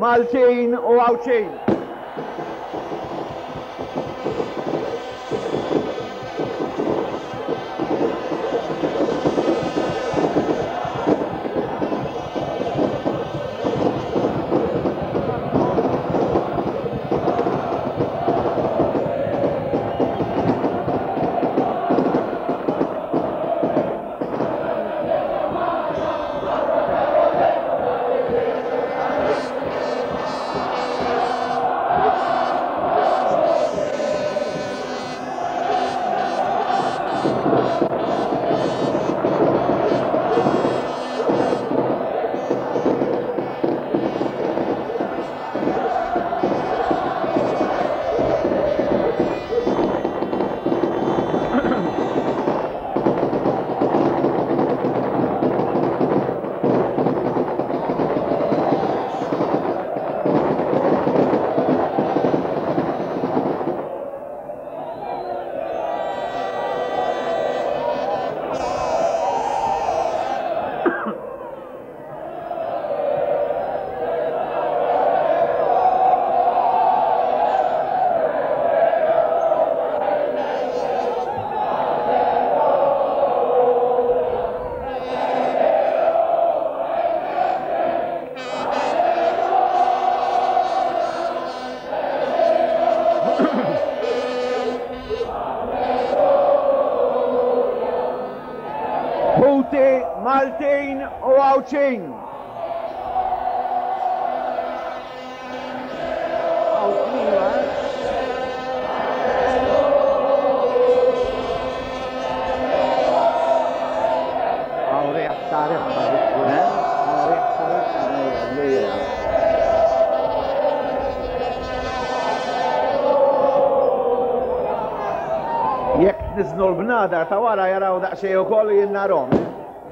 Maltin u Għawdxin. Ħuti Maltin u Għawdxin. Jekk tniżżlu l-bnadar ta' wara jaraw daqsxejn ukoll u jien narhom.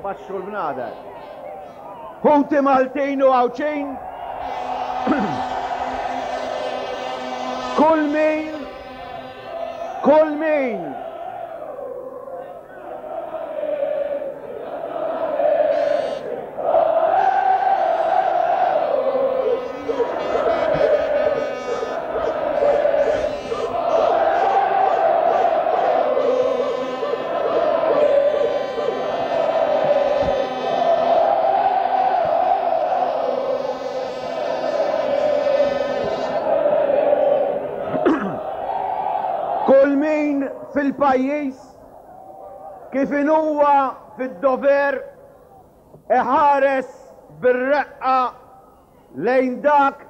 Baxxu l-bnadar. Ħuti Maltin u Għawdxin, kull min, kull min Kull min fil-pajjiż kif inhuwa fid-dover iħares bir-reqqa lejn dak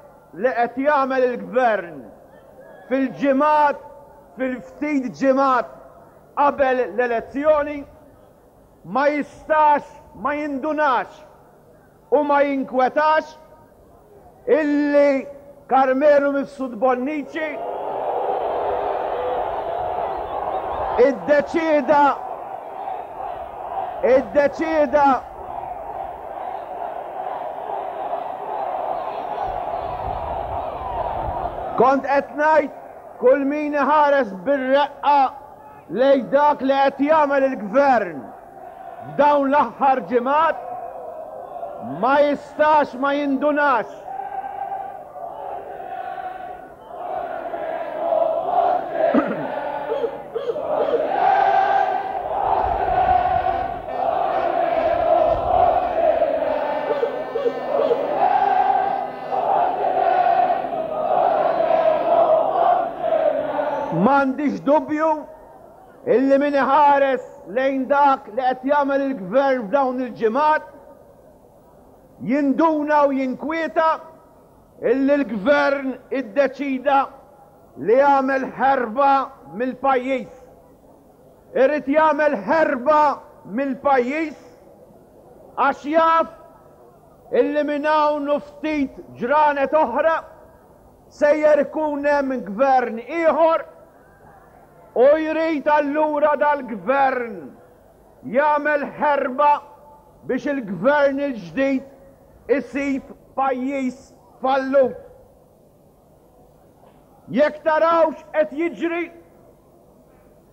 li qed jagħmel il-Gvern fil-ġimgħat, fil-ftit ġimgħat qabel l-elezzjoni, ma jistax ma jindunax u ma jinkwetax illi Karmenu Mifsud Bonnici iddeċieda iddeċieda Kont qed ngħid kull min iħares bir-reqqa lejn dak li qed jagħmel il-Gvern f'dawn l-aħħar ġimgħat ma jistax ma jindunax M'għandix dubju illi min iħares lejn dak li qed jagħmel il-Gvern f'dawn il-ġimgħat jinduna u jinkwieta illi l-Gvern iddeċida li jagħmel ħerba mill-pajjiż. Irid jagħmel ħerba mill-pajjiż għax jaf illi minn hawn u ftit ġranet oħra sejjer ikun hemm gvern ieħor u jrid allura dal-gvern jagħmel ħerba biex il-gvern il-ġdid isib pajjiż fallut. Jekk taraw x'qed jiġri,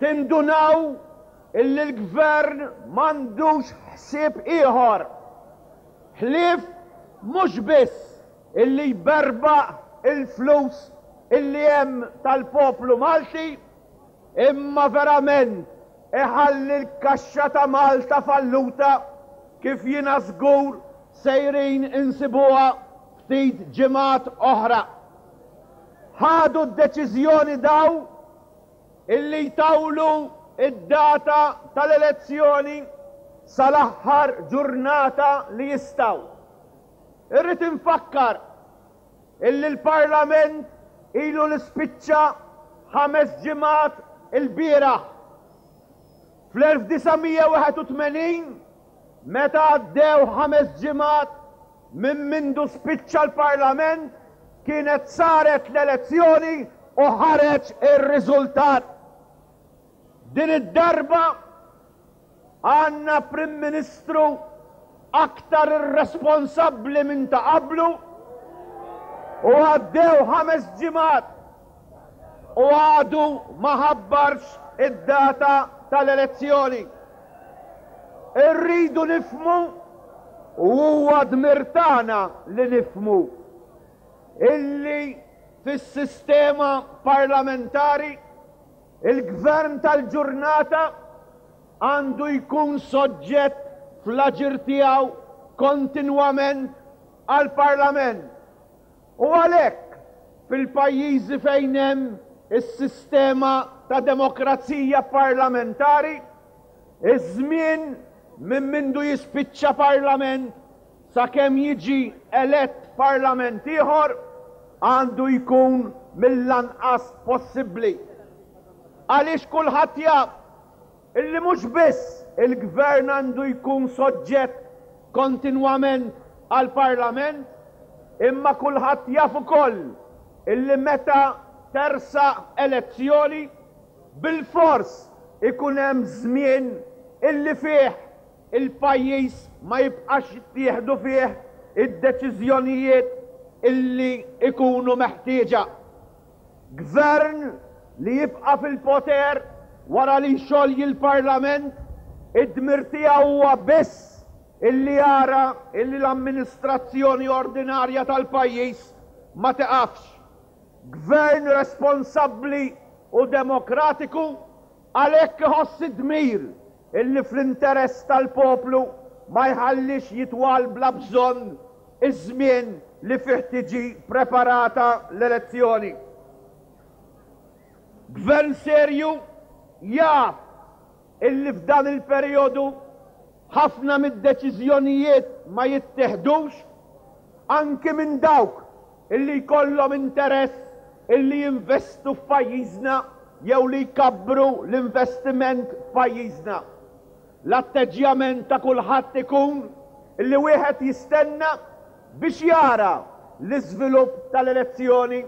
tindunaw illi l-Gvern m'għandux ħsieb ieħor ħlief mhux biss. illi jberbaq il-flus illi hemm tal-poplu Malti imma verament iħalli l-kaxxa ta' Malta falluta kif jiena żgur sejrin insibuha ftit ġimgħat oħra. Ħadu d-deċiżjoni daw illi jtawlu d-data tal-elezzjoni sal-aħħar ġurnata li jistgħu. Irrid infakkar illi l-Parlament ilu li spiċċa ħames ġimgħat ilbieraħ. Fl-1981, meta għaddew ħames ġimgħat minn mindu spiċċa l-Parlament, kienet saret l-elezzjoni u ħareġ ir-riżultat. Din id-darba Għandna Prim Ministru aktar irresponsabbli minn ta' qablu u għaddew ħames ġimgħat u għadu ma ħabbarx id-data tal-elezzjoni. Irridu nifhmu u huwa dmir tagħna li nifhmu illi fis-sistema parlamentari Il-Gvern tal-ġurnata għandu jkun soġġett fl-aġir tiegħu kontinwament għall-Parlament. U għalhekk, fil-pajjiżi fejn hemm is-sistema ta' demokrazija parlamentari, iż-żmien minn mindu jispiċċa Parlament sakemm jiġi elett Parlament ieħor għandu jkun mill-anqas possibbli. Għaliex kulħadd jaf illi mhux biss il-Gvern għandu jkun soġġett kontinwament għall-Parlament, imma kulħadd jaf ukoll illi meta tersaq elezzjoni, bilfors ikun hemm żmien illi fih il-pajjiż ma jibqax jittieħdu fih id-deċiżjonijiet illi jkunu meħtieġa. Gvern li jibqa' fil-poter wara li jxolji l-Parlament, id-dmir tiegħu huwa biss illi jara illi l-amministrazzjoni ordinarja tal-pajjiż ma tiqafx. Gvern responsabbli u demokratiku għalhekk iħoss id-dmir Illi fl-interess tal-poplu ma jħallix jitwal bla bżonn iż-żmien li fih tiġi preparata l-elezzjoni. Gvern serju jaf illi f'dan il-perijodu ħafna mid-deċiżjonijiet ma jittiħdux, anki minn dawk illi jkollhom interess illi jinvestu f'pajjiżna jew li jkabbru l-investiment f'pajjiżna. L-atteġġjament ta' kulħadd ikun illi wieħed jistenna biex jara l-iżvilupp tal-elezzjoni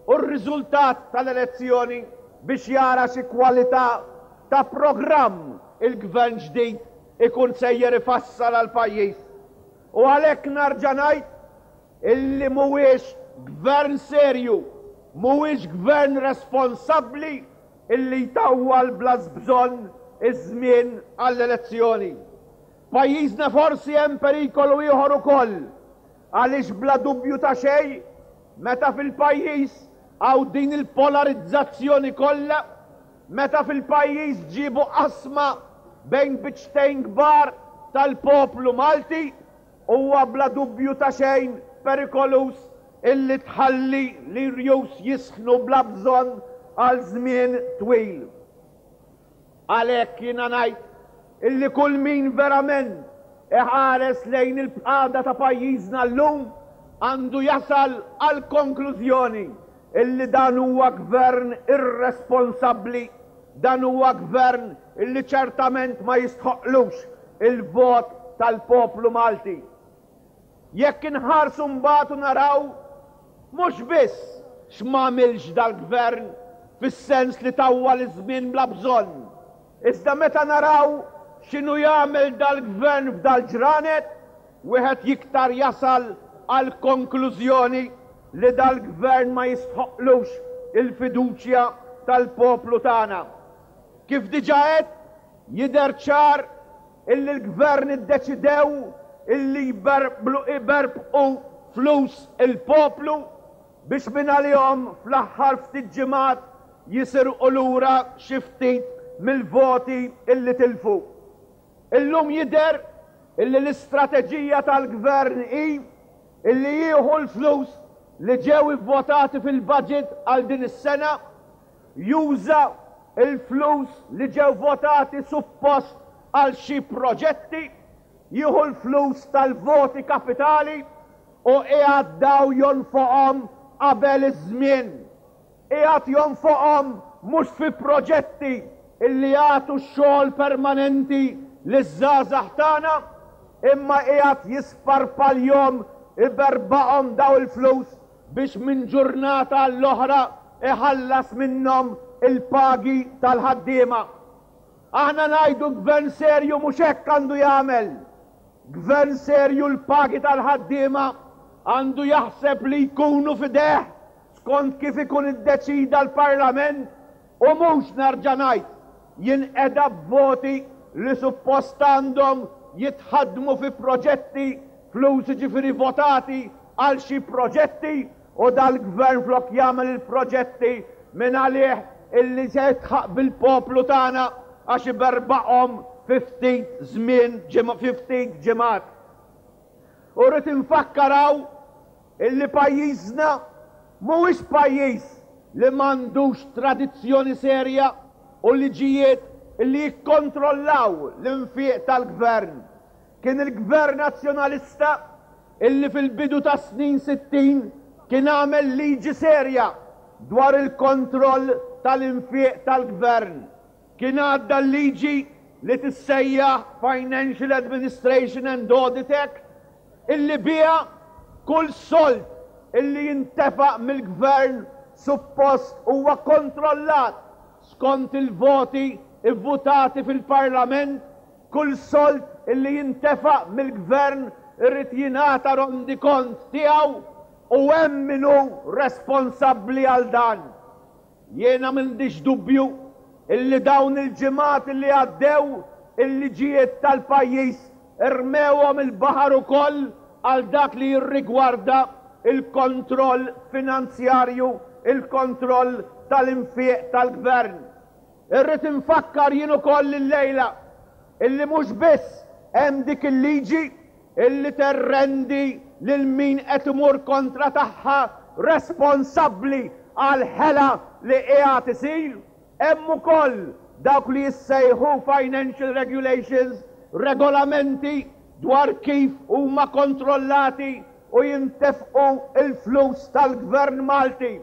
u r-riżultat tal-elezzjoni biex jara xi kwalità ta' programm il-Gvern ġdid ikun sejjer ifassal għall-pajjiż. U għalhekk narġa' ngħid illi mhuwiex Gvern serju, mhuwiex Gvern responsabbli illi jtawwal bla bżonn iż-żmien għall-elezzjoni. Pajjiżna forsi hemm perikolu ieħor ukoll għaliex bla dubju ta' xejn meta fil-pajjiż hawn din il-polarizzazzjoni kollha, meta fil-pajjiż ġiebu qasma bejn biċċtejn kbar tal-poplu Malti, Huwa bla dubju ta' xejn perikoluż illi tħalli l-irjus jisħnu bla bżonn għal żmien twil. Għalhekk jiena ngħid illi kull min verament iħares lejn il-qagħda ta' pajjiżna llum għandu jasal għall-konklużjoni illi dan huwa gvern irresponsabbli, dan huwa gvern illi ċertament ma jistħoqqlux il-vot tal-poplu Malti. Jekk inħarsu mbagħad u naraw mhux biss x'm'għamilx dal-Gvern fis-sens li tawwal iż-żmien bla bżonn, iżda meta naraw x'inhu jagħmel dal-Gvern f'dal-ġranet, wieħed jiktar jasal għall-konklużjoni li dal-Gvern ma jistħoqqlux il-fiduċja tal-poplu tagħna. Kif diġà għedt, Jidher ċar illi l-Gvern iddeċidew illi jberbqu flus. flus il-poplu biex mingħalihom fl-aħħar ftit ġimgħat jisirqu lura xi ftit mill-voti illi tilfu. Illum jidher illi l-istrateġija tal-Gvern hi illi jieħu l-flus li ġew ivvotati fil-budget għal din is-sena, juża l-flus li ġew votati suppost għal xi proġetti, jieħu l-flus tal-voti kapitali u qiegħed daw jonfoqhom qabel iż-żmien. Qiegħed jonfoqhom mhux fi proġetti illi jagħtu xogħol permanenti liż-żgħażagħ tagħna, imma qiegħed jisparpaljhom, iberbaqhom daw il-flus biex minn ġurnata għall-oħra iħallas minnhom il-pagi tal-ħaddiema. Aħna ngħidu gvern serju mhux hekk għandu jagħmel. Gvern serju l-pagi tal-ħaddiema għandu jaħseb li jkunu f'idejh skont kif ikun iddeċida l-Parlament u mhux, nerġa' ngħid, jinqeda b'voti li suppost għandhom jitħaddmu fi proġetti, flus jiġifieri votati għal xi proġetti u dal-Gvern flok jagħmel il-proġetti mingħalih illi se jidħaq bil-poplu tagħna għax iberbaqhom fi ftit żmien, fi ftit ġimgħat. U rrid infakkar hawn illi pajjiżna mhuwiex pajjiż li m'għandux tradizzjoni serja u liġijiet illi jikkontrollaw l-infiq tal-Gvern. Kien il-Gvern Nazzjonalista illi fil-bidu tas-snin 60 kien għamel liġi serja dwar il-kontroll tal-infiq tal-Gvern. Kien għadda l-liġi li tissejjaħ Financial Administration and Audit Act illi biha kull sold illi jintefaq mill-Gvern suppost huwa kontrollat skont il-voti vvutati fil-Parlament, kull sold illi jintefaq mill-Gvern irid jingħata rondikont tiegħu u hemm min hu responsabbli għal dan. Jiena m'għndix dubju illi dawn il-ġimgħat illi għaddew il-liġijiet tal-pajjiż rmewhom il-baħar ukoll għal dak li jirrigwarda l-kontroll finanzjarju, il-kontroll tal-infiq tal-Gvern. Irrid infakkar jien ukoll illejla illi mhux biss hemm dik il-liġi illi terrendi lil min qed imur kontra tagħha responsabbli għall-ħela li qiegħed isir, hemm ukoll dawk li jissejħu financial regulations, regolamenti dwar kif huma kontrollati u jintefqu l-flus tal-Gvern Malti.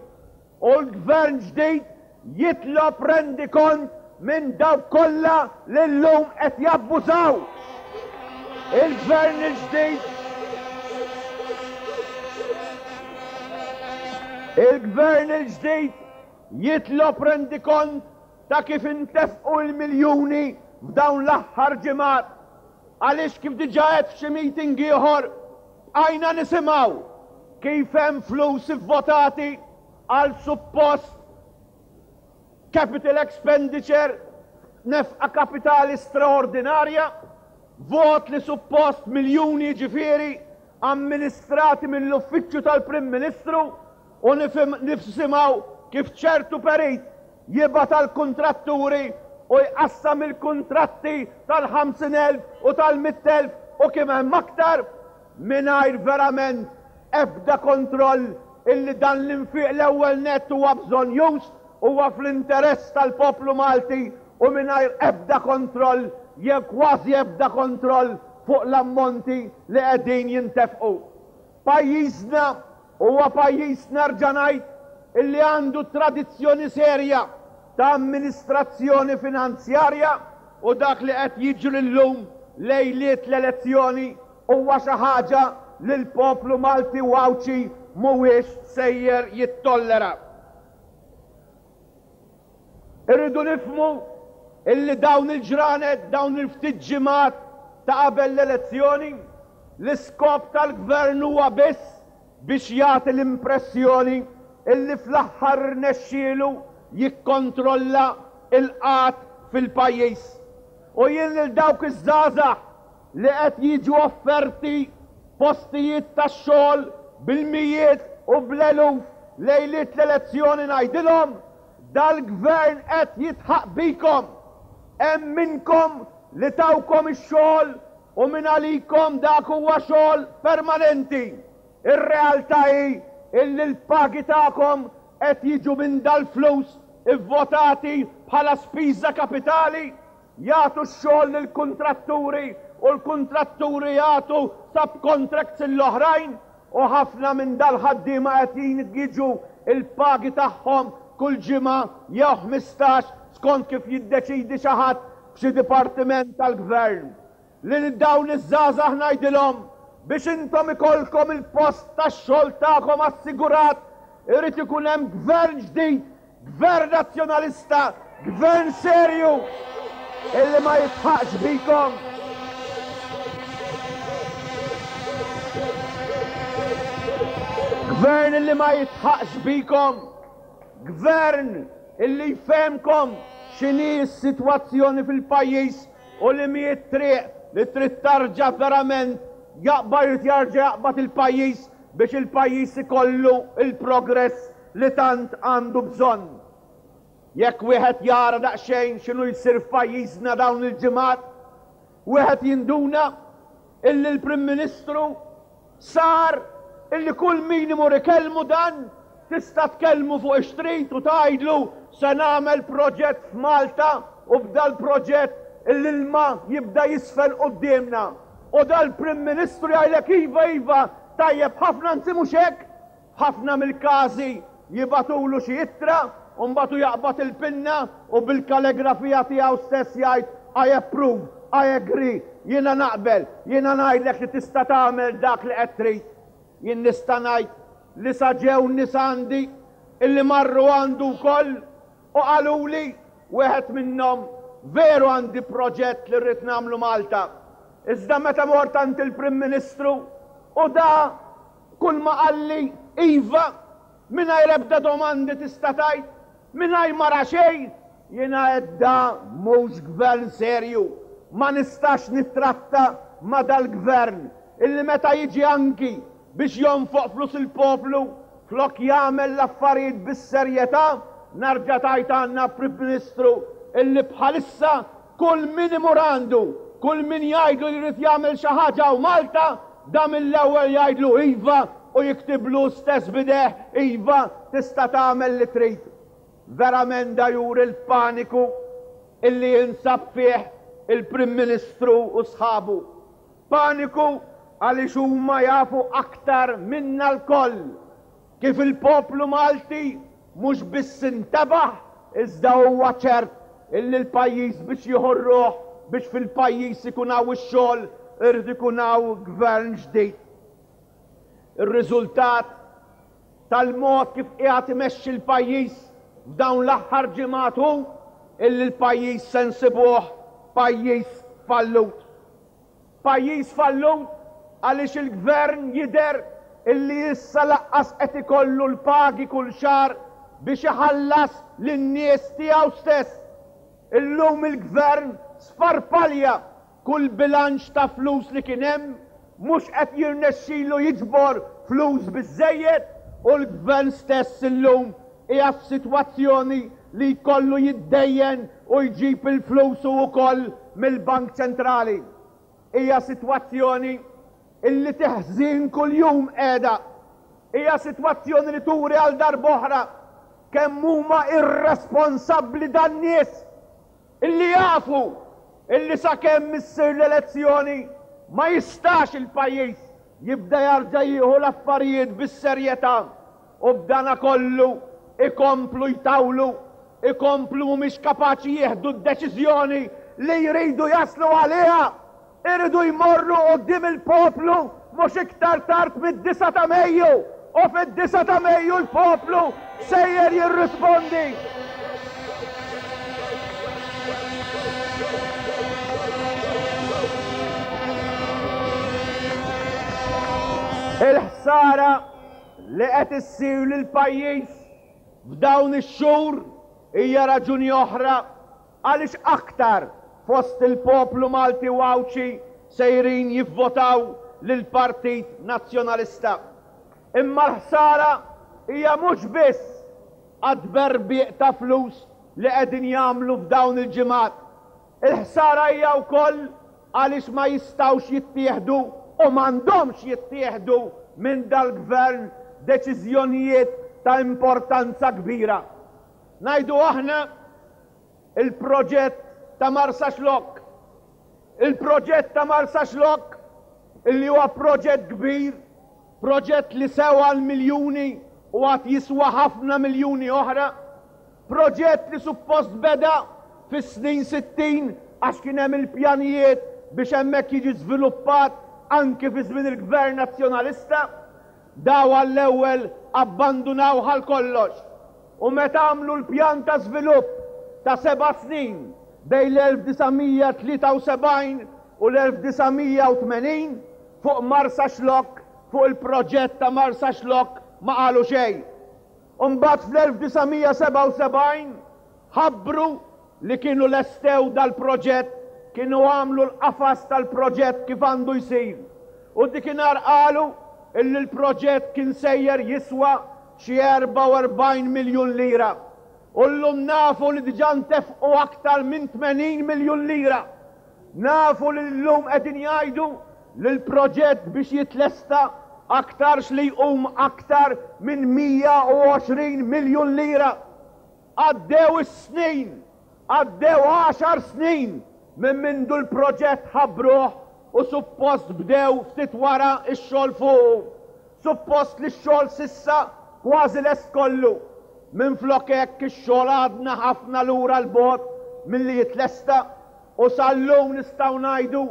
U l-Gvern ġdid jitlob rendikont minn dawk kollha li llum qed jabbużaw. Il-Gvern il-ġdid Il-Gvern il-ġdid jitlob rendikont ta' kif intefqu l-miljuni f'dawn l-aħħar ġimgħat. Għaliex kif diġà għedt f'xi meeting ieħor, bqajna nisimgħu kif hemm flus ivvotati għal suppost capital expenditure, nefqa kapitali straordinarja, vot li suppost miljuni jiġifieri amministrati mill-Uffiċċju tal-Prim Ministru u nisimgħu kif ċertu perit jibgħat għall-kuntratturi u jqassam il-kuntratti tal-50,000 u tal-100,000 u kemm hemm aktar mingħajr verament ebda kontroll illi dan l-infiq l-ewwel nett huwa bżonnjuż, huwa fl-interess tal-poplu Malti u mingħajr ebda kontroll jew kważi ebda kontroll fuq l-ammonti li qegħdin jintefqu. Pajjiżna huwa pajjiż nerġa' ngħid illi għandu tradizzjoni serja ta' amministrazzjoni finanzjarja u dak li qed jiġri llum lejliet l-elezzjoni huwa xi ħaġa li l-poplu Malti u Għawdxi mhuwiex sejjer jittollera. Irridu nifhmu illi dawn il-ġranet, dawn il-ftit ġimgħat ta' qabel l-elezzjoni, l-iskop tal-Gvern huwa biss biex jagħti l-impressjoni illi fl-aħħar irnexxielu jikkontrolla l-qgħad fil-pajjiż. U jien lil dawk iż-żgħażagħ li qed jiġu offerti postijiet tax-xogħol bil-mijiet u bl-eluf lejliet l-elezzjoni ngħidilhom, dal-Gvern qed jidħaq bikom. Hemm minnkom li tawkom ix-xogħol u mingħalikom dak huwa xogħol permanenti. Ir-realtà hi illi l-pagi tagħkom qed jiġu minn dal-flus ivvotati bħala spiża kapitali. Jagħtu x-xogħol lill-kuntratturi u l-kuntratturi jagħtu subcontracts lill-oħrajn u ħafna minn dal-ħaddiema qed jiġu l-pagi tagħhom kull ġimgħa jew 15 skont kif jiddeċiedi xi ħadd f'xi dipartiment tal-Gvern. Lil dawn iż-żgħażagħ ngħidilhom biex intom ikollkom il-post tax-xogħol tagħkom assigurat irid ikun hemm Gvern ġdid Gvern Nazzjonalista, gvern serju illi ma jidħaqx bikom. Gvern illi ma jidħaqx bikom. Gvern illi jfehmkom x'inhi s-sitwazzjoni fil-pajjiż u li mhi t-triq li trid tarġa' verament jaqbad irid jarġa' jaqbad il-pajjiż biex il-pajjiż ikollu l-progress li tant għandu bżonn. Jekk wieħed jara daqsxejn x'inhu jsir f'pajjiżna dawn il-ġimgħat, wieħed jinduna illi l-Prim Ministru sar illi kull min imur ikellmu dan tista' tkellmu fuq ix-trid u tgħidlu se nagħmel proġett f'Malta u b'dal-proġett l-ilma jibda jiżfen quddiemna. U dal-Prim Ministru jgħidlek iva iva tajjeb ħafna anzi mhux hekk, F'ħafna mill-każi jibagħtulu xi ittra u mbagħad hu jaqbad il-pinna u bil-kaligrafija tiegħu stess jgħid I approve, I agree, jiena naqbel, jiena ngħidlek li tista' tagħmel dak li qed trid. Jien nista' ngħid li sa ġew nies għandi illi marru għandu wkoll u qaluli, wieħed minnhom, veru għandi proġett li rrid nagħmlu Malta, iżda meta mort għand il-Prim Ministru u da Kull ma qalli, iva, mingħajr ebda domandi tista' tgħid, mingħajr ma ra xejn, jiena għedt da mhux gvern serju, ma nistax nittratta ma' dal-gvern illi meta jiġi anki biex jonfoq flus il-poplu, flok jagħmel l-affarijiet bis-serjetà, narġa' tgħid għandna Prim Ministru illi bħalissa Kull min imur għandu, kull min jgħidlu li jrid jagħmel xi ħaġa hawn Malta, da mill-ewwel jgħidlu iva u jiktiblu hu stess b'idejh iva tista' tagħmel li trid. Verament da juri l-paniku illi jinsab fih il-Prim Ministru u sħabu. Paniku għaliex huma jafu aktar minna lkoll Kif il-poplu Malti mhux biss intebaħ iżda huwa ċert illi l-pajjiż biex jieħu r-ruħ biex fil-pajjiż ikun hawn ix-xogħol irid ikun hawn gvern ġdid. Ir-riżultat tal-mod kif qiegħed imexxi l-pajjiż f'dawn l-aħħar ġimgħat hu illi l-pajjiż se nsibuh pajjiż fallut. Pajjiż fallut għaliex il-Gvern jidher illi issa laqqas qed ikollu l-pagi kull xahar biex iħallas lin-nies tiegħu stess. Illum il-Gvern sfarpalja kull bilanċ ta' flus li kien hemm, mhux qed jirnexxilu jiġbor flus biżżejjed u l-Gvern stess illum qiegħed f'sitwazzjoni li jkollu jiddejjen u jġib il-flus hu wkoll mill-Bank Ċentrali. Hija sitwazzjoni illi teħżin kuljum qiegħda. Hija sitwazzjoni li turi għal darb'oħra kemm huma irresponsabbli dan-nies illi jafu illi sakemm issir l-elezzjoni ma jistax il-pajjiż jibda jarġa' jieħu l-affarijiet bis-serjetà u b'danakollu ikomplu jtawlu, ikomplu mhumiex kapaċi jieħdu d-deċiżjoni li jridu jaslu għaliha. Iridu jmorru quddiem il-poplu mhux iktar tard mid-disgħa ta' Mejju u fid-disgħa ta' Mejju l-poplu sejjer jirrispondi. Il-ħsara li qed issir lill-pajjiż f'dawn ix-xhur hija raġuni oħra għaliex aktar fost il-poplu Malti u Għawdxi sejrin jivvotaw lill-Partit Nazzjonalista. Imma l-ħsara hija mhux biss għat-tberbiq ta' flus li qegħdin jagħmlu f'dawn il-ġimgħat. Il-ħsara hija wkoll għaliex ma jistgħux jittieħdu u m'għandhomx jittieħdu minn dal-Gvern deċiżjonijiet ta' importanza kbira. Ngħidu aħna il-proġett ta' Marsaxlokk. Il-proġett ta' Marsaxlokk illi huwa proġett kbir, proġett li sewa l-miljuni u għad jiswa ħafna miljuni oħra, proġett li suppost beda fis-snin 60 għax kien hemm il-pjanijiet biex hemmhekk jiġi żviluppat anki fi żmien il-Gvern Nazzjonalista, daw għall-ewwel abbandunawh għal kollox u meta għamlu l-pjan ta' żvilupp ta' seba' snin bejn l-1973 u l-1980 fuq Marsaxlokk, fuq il-proġett ta' Marsaxlokk ma qalu xejn. U mbagħad fl-1977 ħabbru li kienu lestew dal-proġett, kienu għamlu l-qafas tal-proġett kif għandu jsir. U dikinhar qalu illi l-proġett kien sejjer jiswa xi 44 miljun lira. U llum nafu li diġà ntefqu aktar minn 80 miljun lira. Nafu li llum qegħdin jgħidu li l-proġett biex jitlesta aktarx li jqum aktar minn 120 miljun lira. Għaddew is-snin, għaddew għaxar snin minn mindu l-proġett ħabbruh u suppost bdew ftit wara x-xogħol fuqu. Suppost li x-xogħol s'issa kważi lest kollu. Minflok hekk ix-xogħol għadna ħafna lura 'l bogħod milli jitlesta u sal-lum nistgħu ngħidu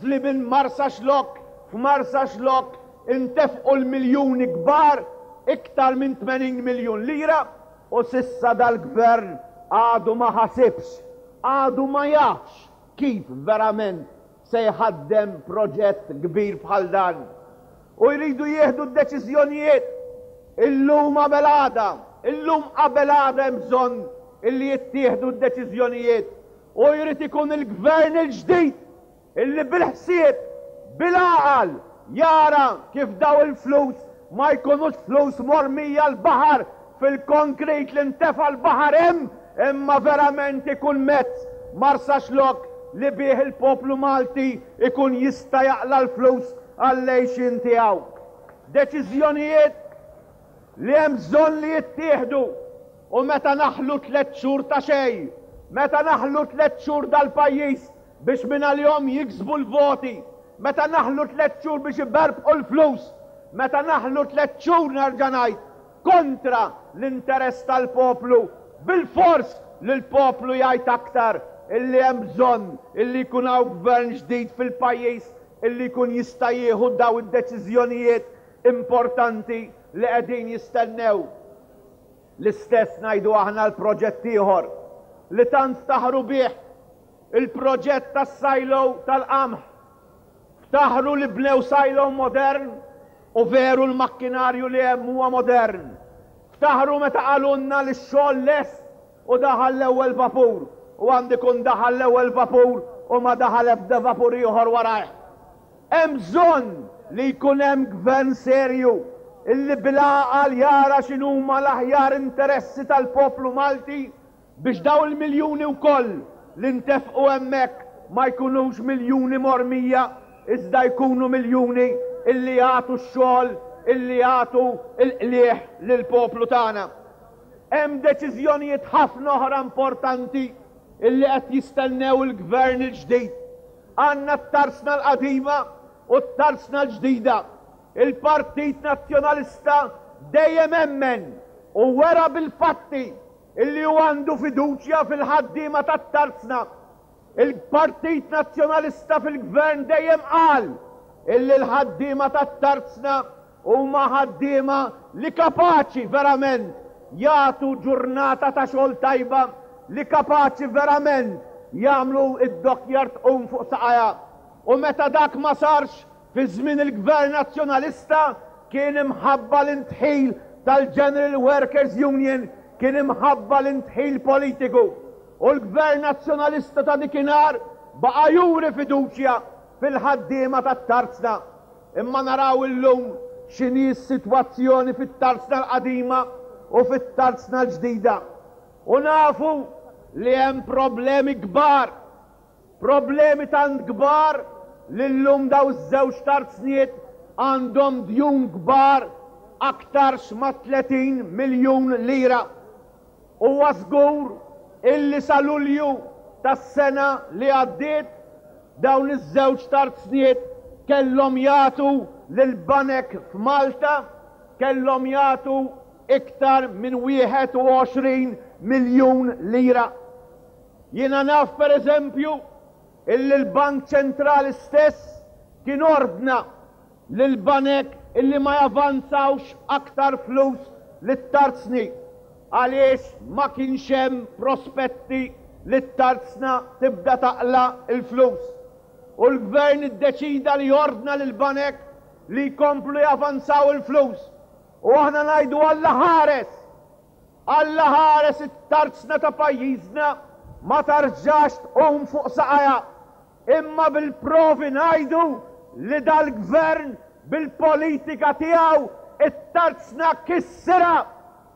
li minn Marsaxlokk f'Marsaxlokk intefqu l-miljuni kbar, iktar minn 80 miljun lira, u s'issa dal-Gvern għadu ma ħasibx, għadu ma jafx kif verament se jħaddem proġett kbir bħal dan. U jridu jieħdu d-deċiżjonijiet illum qabel għada, illum qabel għada hemm bżonn illi jittieħdu d-deċiżjonijiet u jrid ikun il-Gvern il-ġdid illi bil-ħsieb, bil-għaqal jara kif daw il-flus ma jkunux flus mormija l-baħar fil-konkrit li ntefa' l-baħar hemm imma verament ikun mezz Marsaxlokk li bih il-poplu Malti ikun jista' jaqla' l-flus għall-għixien tiegħu. Deċiżjonijiet li hemm bżonn li jittieħdu u meta naħlu tlett xhur ta' xejn, meta naħlu tlett xhur dal-pajjiż biex mingħalihom jiksbu l-voti, meta naħlu tlett xhur biex iberbqu l-flus, meta naħlu tlett xhur nerġa' ngħid kontra l-interess tal-poplu, bilfors li l-poplu jgħid aktar illi hemm bżonn illi jkun hawn gvern ġdid fil-pajjiż illi jkun jista' jieħu daw id-deċiżjonijiet importanti li qegħdin jistennew. L-istess ngħidu aħna l-proġett ieħor li tant ftaħru bih, il-proġett tas-silo tal-qamħ. Ftaħru li bnew silo modern u veru l-makkinarju li hemm huwa modern. Ftaħru meta qalulna li x-xogħol lest u daħal l-ewwel vapur u għandu jkun daħal l-ewwel vapur u ma daħal ebda vapur ieħor warajh. Hemm bżonn li jkun hemm gvern serju illi bil-għaqal jara x'inhuma l-aħjar interessi tal-poplu Malti biex dawn il-miljuni wkoll li ntefqu hemmhekk ma jkunux miljuni mormija iżda jkunu miljuni illi jagħtu x-xogħol, illi jagħtu l-qligħ lill-poplu tagħna. Hemm deċiżjonijiet ħafna oħra importanti illi qed jistennew il-gvern il-ġdid. Għandna t-tarsna l-qadima u t-tarsna l-ġdida. Il-Partit Nazzjonalista dejjem emmen u wera bil-fatti illi hu għandu fiduċja fil-ħaddiema tat-tarzna. Il-Partit Nazzjonalista fil-Gvern dejjem qal illi l-ħaddiema tat-tarzna huma ħaddiema li kapaċi verament jagħtu ġurnata ta' xogħol tajba, li kapaċi verament jagħmlu d-dockyard tqum fuq saqajha. U meta dak ma sarx fi żmien il-Gvern Nazzjonalista kien imħabba l-indħil tal-General Workers Union, kien imħabba l-indħil politiku. U l-Gvern Nazzjonalista ta' dikinhar baqa' juri fiduċja fil-ħaddiema tat-tarzna. Imma naraw illum x'inhi s-sitwazzjoni fit-Tarzna l-Qadima u fit-Tarzna l-Ġdida. U nafu li hemm problemi kbar, problemi tant kbar li llum dawn iż-żewġ tarzniet għandhom djun kbar aktarx ma' 30 miljun lira. Huwa żgur illi sa Lulju tas-sena li għaddiet dawn iż-żewġ tarzniet kellhom jagħtu lill-banek f'Malta kellhom jagħtu iktar minn 21 miljun lira. Jiena naf per eżempju illi l-Bank Ċentrali stess kien ordna lill-banek illi ma javanzawx aktar flus lit-tarzni għaliex ma kienx hemm prospetti li t-tarzna tibda taqla' l-flus. U l-Gvern iddeċida li jordna lill-banek li jkomplu javanzaw il-flus. U aħna ngħidu Alla ħares! Alla ħares it-tarzna ta' pajjiżna ma tarġax tqum fuq saqajha. Imma bil-provi ngħidu li dal-Gvern bil-politika tiegħu it-tarzna kissirha!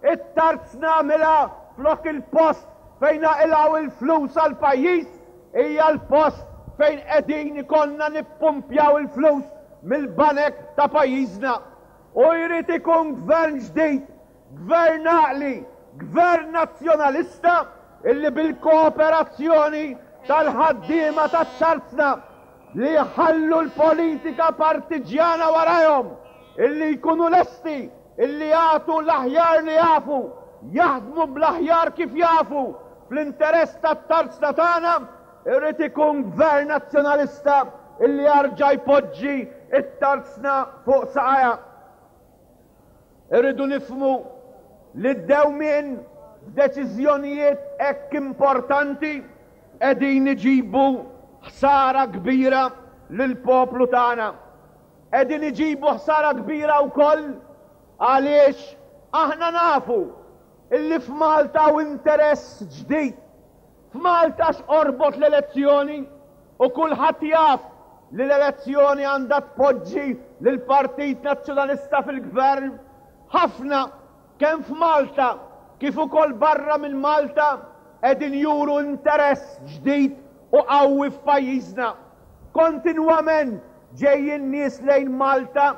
It-tarzna għamilha flok il-post fejn naqilgħu l-flus għall-pajjiż hija l-post fejn qegħdin ikollna nippumpjaw il-flus mill-banek ta' pajjiżna. U jrid ikun Gvern ġdid, Gvern għaqli, Gvern Nazzjonalista illi bil-kooperazzjoni tal-ħaddiema tat-tarzna li jħallu l-politika partiġġjana warajhom, illi jkunu lesti illi jagħtu l-aħjar li jafu, jaħdmu bl-aħjar kif jafu fl-interess tat-tarzna tagħna, irid ikun Gvern Nazzjonalista illi jarġa' jpoġġi t-tarzna fuq saqajha. Irridu nifhmu li d-dewmien f'deċiżjonijiet hekk importanti qegħdin iġibu ħsara kbira lill-poplu tagħna. Qegħdin iġibu ħsara kbira wkoll għaliex aħna nafu illi f'Malta hawn interess ġdid. F'Malta x'qorbot l-elezzjoni u kulħadd jaf li l-elezzjoni għandha tpoġġi lill-Partit Nazzjonalista fil-Gvern. Ħafna, kemm f'Malta kif ukoll barra minn Malta, qegħdin juru interess ġdid u qawwi f'pajjiżna. Kontinwament ġejjin nies lejn Malta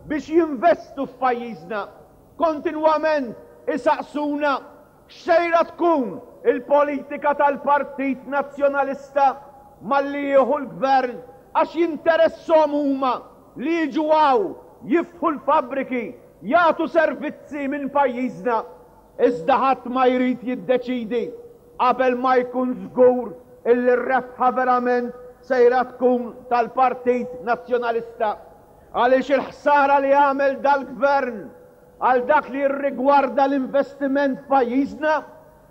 biex jinvestu f'pajjiżna. Kontinwament isaqsuna X'sejra tkun il-politika tal-Partit Nazzjonalista malli jieħu l-Gvern għax jinteresshom huma li jiġu hawn, jiftħu l-fabbriki, jagħtu servizzi minn pajjiżna. Iżda ħadd ma jrid jiddeċidi qabel ma jkun żgur illi r-rebħa verament sejra tkun tal-Partit Nazzjonalista. Għaliex il-ħsara li għamel dal-Gvern Għal dak li jirrigwarda l-investiment f'pajjiżna,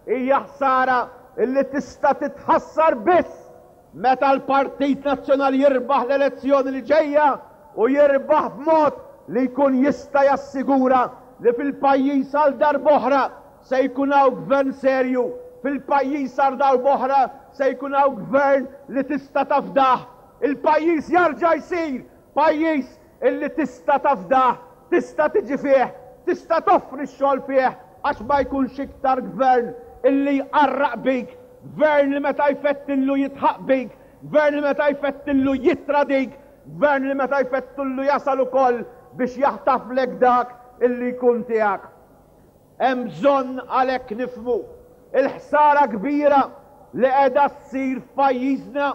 hija ħsara li tista' titħassar biss meta l-Partit Nazzjonali jirbaħ l-elezzjoni li ġejja u jirbaħ b'mod li jkun jista' jassigura li fil-pajjiż għal darb'oħra se jkun hawn gvern serju, fil-pajjiż għal darb'oħra se jkun hawn gvern li tista' tafdah. Il-pajjiż jarġa' jsir pajjiż illi tista' tafdah, tista' tiġi fih, tista' toffri x-xogħol fih għax ma jkunx iktar gvern illi jqarraq bik, gvern li meta jfettillu jidħaq bik, gvern li meta jfettillu jittradik, gvern li meta jfettillu jasal ukoll biex jaħtaflek dak illi jkun tiegħek. Hemm bżonn għalhekk nifhmu l-ħsara kbira li qiegħda ssir f'pajjiżna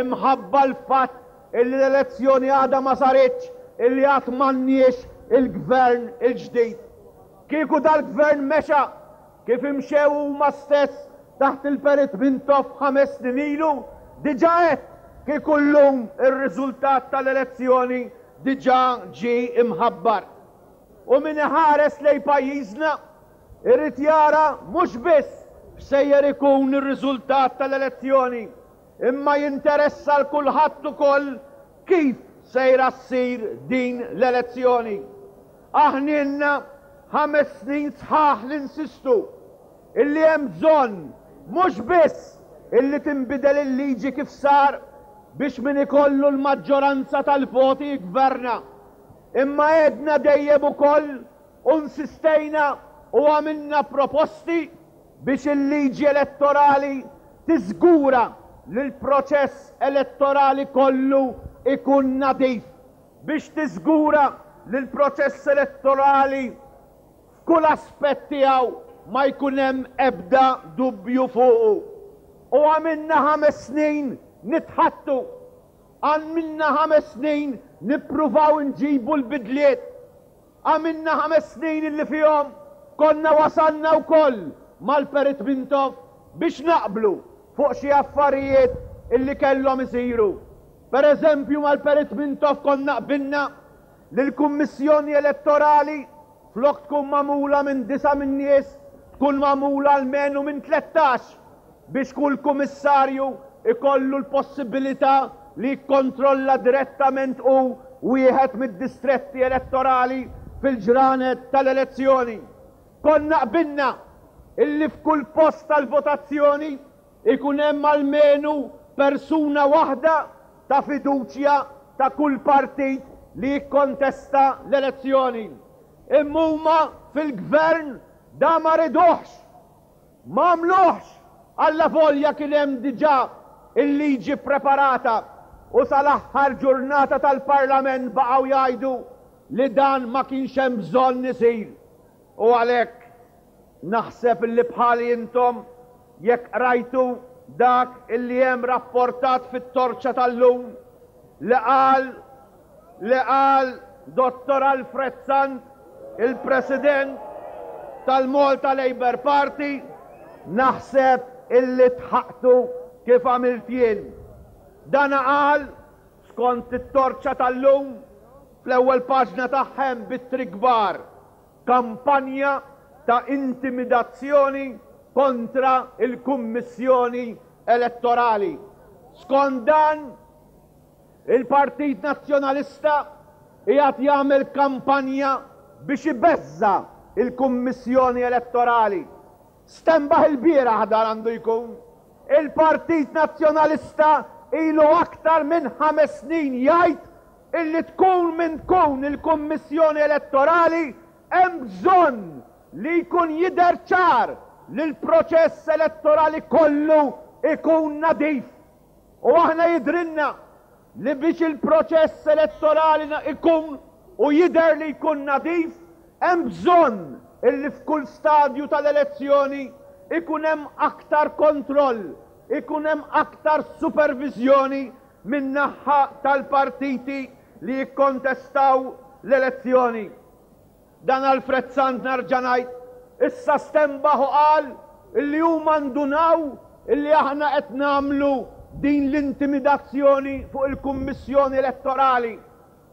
imħabba l-fatt illi l-elezzjoni għadha ma saritx, illi għad m'għandniex il-Gvern il-ġdid. Kieku dal-Gvern mexa kif imxew huma stess taħt il-Perit Mintoff 5 snin ilu, diġà għedt kieku llum ir-riżultat tal-elezzjoni diġà ġie imħabbar. U min iħares lejn pajjiżna irid jara mhux biss x'sejjer ikun ir-riżultat tal-elezzjoni, imma jinteressa 'l kulħadd ukoll kif sejra ssir din l-elezzjoni. Aħna ilna 5 snin sħaħ ninsistu illi hemm bżonn mhux biss illi tinbidel il-liġi kif sar biex min ikollu l-maġġoranza tal-voti jgverna. Imma għedna dejjem ukoll u nsistejna u għamilna proposti biex il-liġi elettorali tiżgura li l-proċess elettorali kollu jkun nadif, biex tiżgura li l-proċess elettorali f'kull aspett tiegħu ma jkun hemm ebda dubju fuqu. U għamilna ħames snin nitħaddtu. Għamilna ħames snin nippruvaw inġibu l-bidliet. Għamilna ħames snin illi fihom konna wasalna wkoll mal-Perit Mintoff biex naqblu fuq xi affarijiet illi kellhom isiru. Per eżempju mal-Perit Mintoff konna qbilna li l-Kummissjoni Elettorali flok tkun magħmula minn disa' min-nies tkun magħmula almenu minn 13 biex kull kumissarju jkollu l-possibilità li jikkontrolla direttament hu wieħed mid-distretti elettorali fil-ġranet tal-elezzjoni. Konna qbilna illi f'kull post tal-votazzjoni ikun hemm almenu persuna waħda ta' fiduċja ta' kull partit li jikkontesta l-elezzjoni. Imma huma fil-Gvern da ma riduhx! M'għamluhx! Allavolja kien hemm diġà l-liġi ppreparata u sal-aħħar ġurnata tal-Parlament baqgħu jgħidu li dan ma kienx hemm bżonn isir. U għalhekk naħseb illi bħali intom jekk qrajtu dak illi hemm rapportat fit-Torċa tal-lum li qal li qal Dottor Alfred Sant, il-President tal-Malta Labour Party, naħseb illi dħaqtu kif għamilt jien. Dan qal, skont it-Torċa tal-lum, fl-ewwel paġna tagħha hemm b'ittri kbar, Kampanja ta' intimidazzjoni kontra l-Kummissjoni Elettorali. Skont dan, Il-Partit Nazzjonalista qiegħed jagħmel kampanja biex ibeżża' l-Kummissjoni Elettorali. Stenbaħ ilbieraħ dan għandu jkun. Il-Partit Nazzjonalista ilu aktar minn ħames snin jgħid illi tkun min tkun il-Kummissjoni Elettorali hemm bżonn li jkun jidher ċar li l-proċess elettorali kollu jkun nadif. U aħna jidhrilna li biex il-proċess elettorali ikun u jidher li jkun nadif, hemm bżonn illi f'kull stadju tal-elezzjoni ikun hemm aktar kontroll, ikun hemm aktar superviżjoni min-naħha tal-partiti li jikkontestaw l-elezzjoni. Dan Alfred Sant nerġa' ngħid, issa stenbaħ u qal illi huma ndunaw illi aħna qed nagħmlu din l-intimidazzjoni fuq il-Kummissjoni Elettorali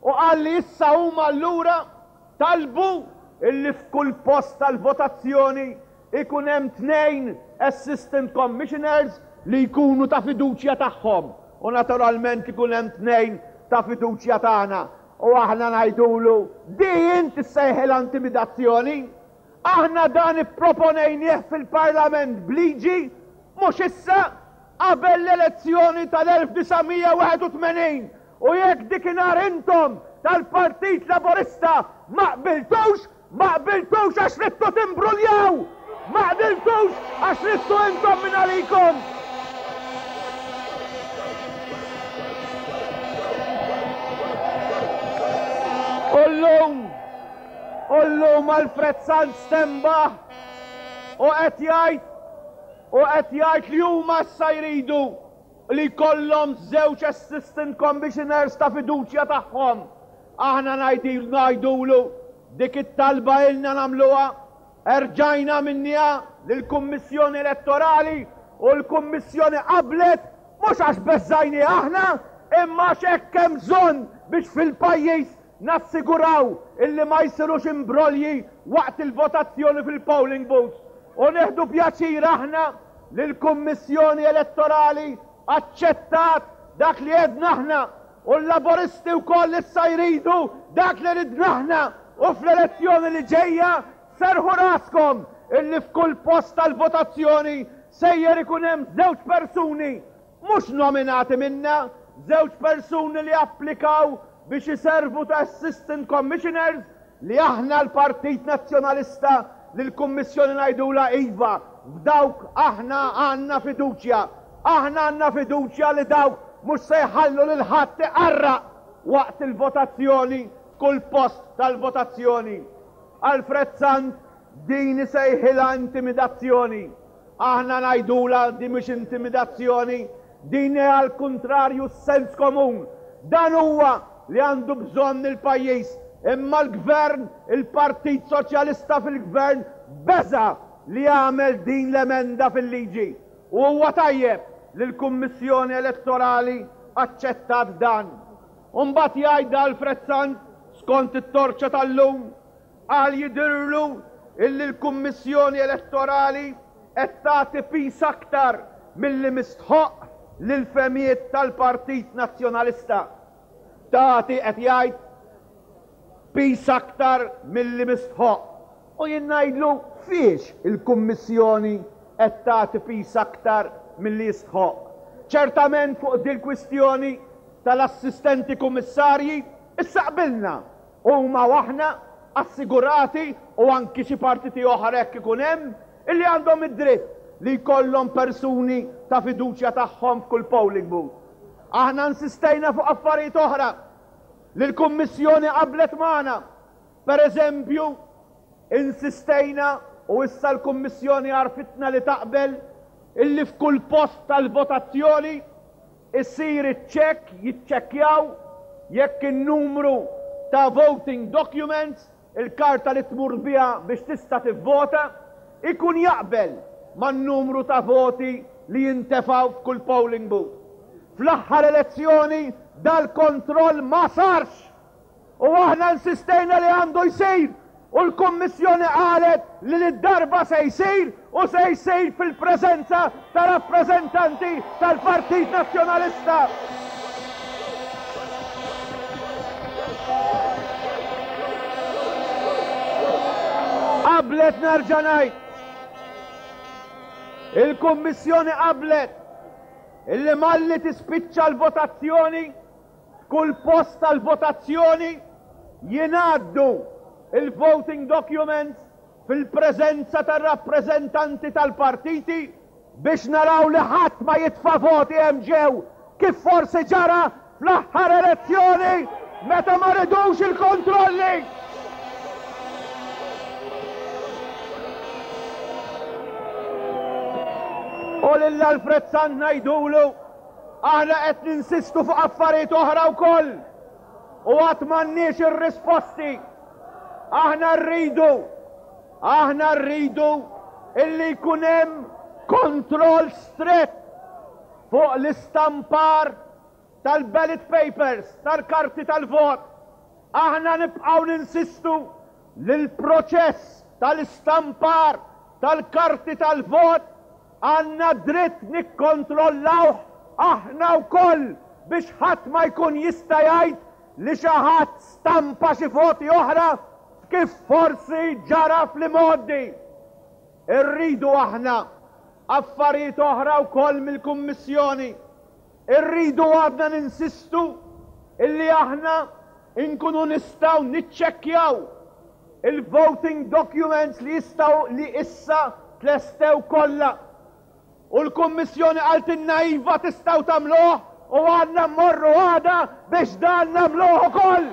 u qal li issa huma allura talbu illi f'kull post tal-votazzjoni ikun hemm tnejn Assistant Commissioners li jkunu ta' fiduċja tagħhom u naturalment ikun hemm tnejn ta' fiduċja tagħna. U aħna ngħidulu, di int issejħilha intimidazzjoni? Aħna dan ipproponejnieh fil-Parlament b'liġi, mhux issa, qabel l-elezzjoni tal-1981, u jekk dikinhar intom tal-Partit Laburista ma qbiltux, Ma qbiltux għax ridtu timbruljaw! Ma qbiltux għax ridtu intom minn għalikom! U llum, u llum Alfred Sant stenbaħ u qed jgħid u qed jgħid li huma issa jridu li jkollhom żewġ assistant commissioners ta' fiduċja tagħhom. Aħna ngħidulu dik it-talba ilna nagħmluha, erġajna għamilniha lill-Kummissjoni Elettorali u l-Kummissjoni qablet mhux għax beżżajniha aħna imma għax hekk hemm bżonn biex fil-pajjiż nassiguraw illi ma jsirux imbrolji waqt il-votazzjoni fil-polling booths. U nieħdu pjaċir aħna li l-Kummissjoni Elettorali aċċettat dak li għedna aħna U l-Laburisti wkoll issa jridu dak li ridna aħna u fl-elezzjoni li ġejja serrħu raskom illi f'kull post tal-votazzjoni sejjer ikun hemm żewġ persuni mhux nominati minna, żewġ persuni li applikaw. biex iservu ta' Assistant Commissioners li aħna l-Partit Nazzjonalista lill-Kummissjoni ngħidulha iva, f'dawk aħna għandna fiduċja. Aħna għandna fiduċja li dawk mhux se jħallu lil ħadd iqarraq waqt il-votazzjoni f'kull post tal-votazzjoni. Alfred Sant din isejħilha intimidazzjoni. Aħna ngħidulha din mhix intimidazzjoni, din hi għall-kuntrarju s-sens komun. Dan huwa li għandu bżonn il-pajjiż. Imma l-Gvern, il-Partit Soċjalista fil-Gvern beża' li jagħmel din l-emenda fil-liġi. U huwa tajjeb li l-Kummissjoni Elettorali aċċettat dan. U mbagħad jgħid Alfred Sant, skont it-Torċa tal-lum, Qal jidhirlu illi l-Kummissjoni Elettorali qed tagħti piż aktar milli mistħoqq lill-fehmiet tal-Partit Nazzjonalista. Tagħti, qed jgħid, piż aktar milli mistħoqq. U jien ngħidlu fiex il-Kummissjoni qed tagħti piż aktar milli jistħoqq. Ċertament fuq dil-kwistjoni tal-assistenti kummissarji issa qbilna Huma u aħna assigurati, u anki xi partiti oħra jekk ikun hemm, illi għandhom id-dritt li jkollhom persuni ta' fiduċja tagħhom f'kull polling booth. Aħna insistejna fuq affarijiet oħra li l-Kummissjoni qablet magħna. Per eżempju, insistejna, u issa l-Kummissjoni għarrfitna li taqbel, illi f'kull post tal-votazzjoni, Isir iċ-check, jiċċekkjaw jekk in-numru ta' voting documents, il-karta li tmur biha biex tista' tivvota, ikun jaqbel man-numru ta' voti li jintefgħu f'kull polling booth. Fl-aħħar elezzjoni dal-kontroll ma sarx! U aħna insistejna li għandu jsir u l-Kummissjoni qalet li lid-darba se jsir u se jsir fil-preżenza ta' rappreżentanti tal-Partit Nazzjonalista. Qablet nerġa' ngħid. Il-Kummissjoni qablet illi malli tispiċċa l-votazzjoni F'kull post tal-votazzjoni jingħaddu l-voting documents fil-preżenza tar-rappreżentanti tal-partiti biex naraw li ħadd ma jitfa' voti hemm ġew kif forsi ġara fl-aħħar elezzjoni meta ma ridux il-kontrolli. U lil Alfred Sant ngħidulu Aħna qed ninsistu fuq affarijiet oħra wkoll u għad m'għandniex ir-risposti. Aħna rridu, aħna rridu illi jkun hemm kontroll strett fuq l-istampar tal-ballot papers, tal-karti tal-vot. Aħna nibqgħu ninsistu li l-proċess tal-istampar tal-karti tal-vot Għandna dritt nikkontrollawh aħna wkoll biex ħadd ma jkun jista' jgħid li xi ħadd stampa xi voti oħra kif forsi ġara fl-imgħoddi. Irridu aħna affarijiet oħra wkoll mill-Kummissjoni. Irridu għadna ninsistu illi aħna nkunu nistgħu niċċekkjaw il-voting documents li jistgħu li issa tlestew kollha. U l-Kummissjoni qaltilna iva tistgħu tagħmluh u għandna mmorru għada biex dan nagħmluh ukoll.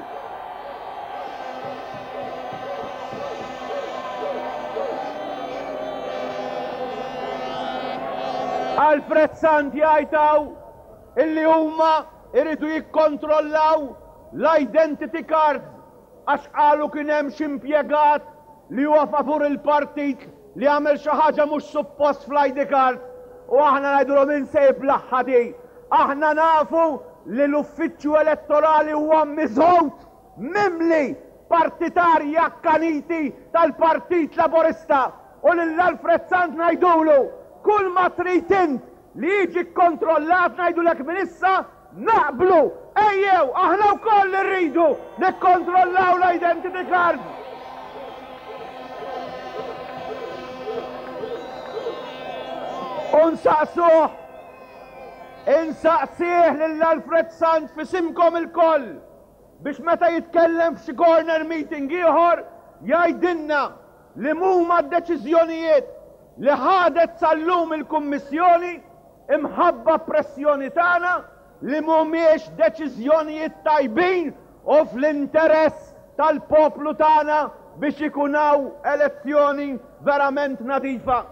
Alfred Sant jgħid hawn illi huma jridu jikkontrollaw l-identity cards Għax qalu kien hemm xi impjegat li huwa favur il-partit li għamel xi ħaġa mhux suppost fl-ID card u aħna ngħidulhom min se jiblaħħa di. Aħna nafu li l-uffiċċju elettorali huwa miżgħud, mimli partitarji akkaniti tal-Partit Laburista u lil Alfred Sant ngħidulu kull ma trid int li jiġi kkontrollat ngħidulek minn issa Naqblu! Ejjew, aħna wkoll irridu nikkontrollaw l-identity cards! U nsaqsuh, insaqsih lil Alfred Sant f'isimkom ilkoll! biex meta jitkellem f'xi corner meeting ieħor jgħidilna li m'huma d-deċiżjonijiet li ħadet sal-lum il-Kummissjoni imħabba pressjoni tagħna li mhumiex deċiżjonijiet tajbin u fl-interess tal-poplu tagħna biex ikun hawn elezzjoni verament nadifa.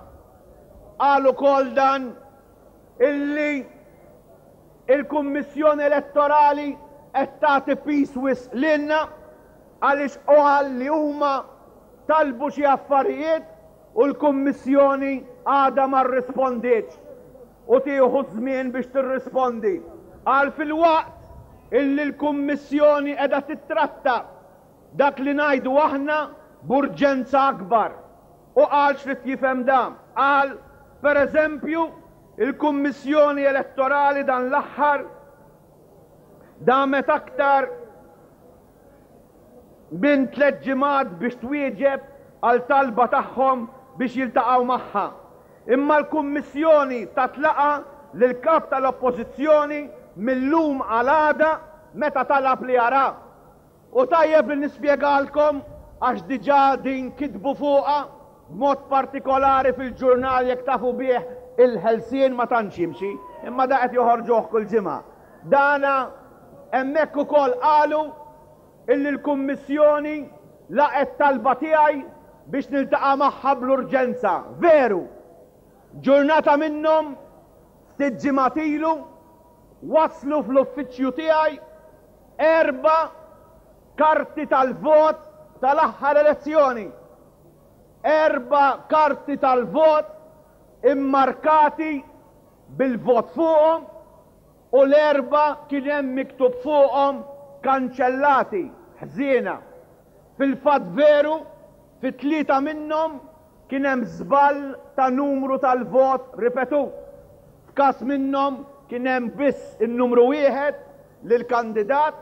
Qal ukoll dan illi il-Kummissjoni Elettorali qed tagħti piż wisq lilna għaliex qal li huma talbu xi affarijiet u l-Kummissjoni għadha ma rrispondietx u tieħu ż-żmien biex tirrispondi. Qal filwaqt illi l-Kummissjoni qiegħda tittratta dak li ngħidu aħna b'urġenza akbar. U qal x'ried jifhem dan. Qal, per eżempju, il-Kummissjoni Elettorali dan l-aħħar damet aktar minn tlett ġimgħat biex twieġeb għal talba tagħhom biex jiltaqgħu magħha. Imma l-Kummissjoni tat laqgħa lill-Kap tal-Oppożizzjoni mil-lum għal għada meta talab li jara. U tajjeb li nispjegalkom għax diġà din kitbu fuqha b'mod partikolari fil-ġurnal jekk tafu bih Il-Ħelsien ma tantx jimxi, imma da qed joħorġuh kull ġimgħa. Dana hemmhekk ukoll qalu illi l-Kummissjoni laqgħet talba tiegħi biex niltaqa' magħha bl-urġenza. Veru! Ġurnata minnhom, ftit ġimgħat ilu, waslu fl-uffiċċju tiegħi erba' karti tal-vot tal-aħħar elezzjoni. Erba' karti tal-vot immarkati bil-vot fuqhom u l-erbgħa kien hemm miktub fuqhom kanċellati, ħżiena. Fil-fatt veru, fi tlieta minnhom kien hemm żball ta' numru tal-vot ripetut. F'każ minnhom kien hemm biss in-numru wieħed lill-kandidat